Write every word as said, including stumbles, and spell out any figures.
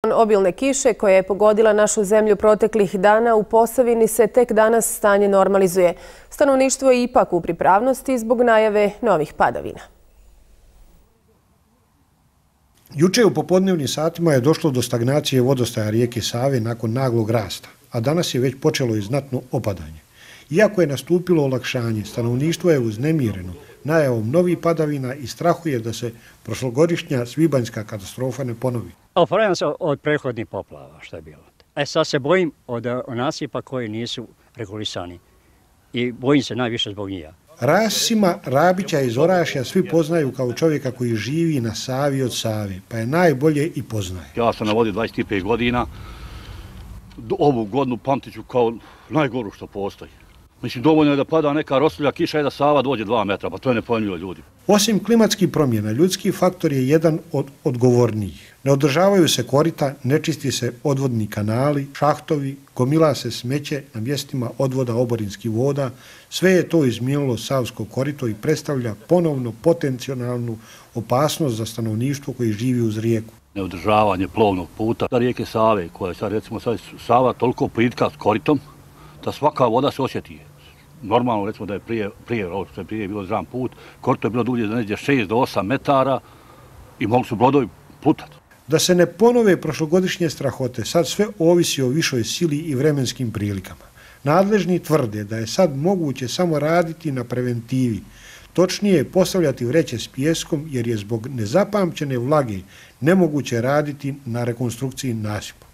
Obilne kiše koja je pogodila našu zemlju proteklih dana u Posavini se tek danas stanje normalizuje. Stanovništvo je ipak u pripravnosti zbog najave novih padavina. Juče u popodnevnim satima je došlo do stagnacije vodostaja rijeke Save nakon naglog rasta, a danas je već počelo i znatno opadanje. Iako je nastupilo olakšanje, stanovništvo je uznemireno najavom novih padavina i strahuje da se prošlogodišnja svibanjska katastrofa ne ponovi. Oporavljam se od prethodnih poplava što je bilo. E sad se bojim od nasipa koji nisu regulisani i bojim se najviše zbog njih. Rasima Rabića iz Orašja svi poznaju kao čovjeka koji živi na Savi od Save, pa je najbolje i poznaje. Ja sam na vodi dvadeset pet godina, ovu godinu pamtit ću kao najgoru što postoji. Mislim, dovoljno je da pada neka rosulja kiša i da Sava dođe dva metra, pa to je nepojmljivo ljudi. Osim klimatskih promjena, ljudski faktor je jedan od odgovornijih. Ne održavaju se korita, ne čisti se odvodni kanali, šahtovi, gomila se smeće na mjestima odvoda oborinskih voda. Sve je to izmijenilo Savsko korito i predstavlja ponovno potencijalnu opasnost za stanovništvo koji živi uz rijeku. Neodržavanje plovnog puta da rijeke Save, koja je sad recimo sad Sava toliko plitka s koritom, da svaka voda se osjeti. Normalno, recimo da je prije, prije, što je prije bilo zram put, korito je bilo dulje da neđe šest do osam metara i mogli su brodovi plutati. Da se ne ponove prošlogodišnje strahote, sad sve ovisi o višoj sili i vremenskim prilikama. Nadležni tvrde da je sad moguće samo raditi na preventivi, točnije postavljati vreće s pijeskom jer je zbog nezapamćene vlage nemoguće raditi na rekonstrukciji nasipa.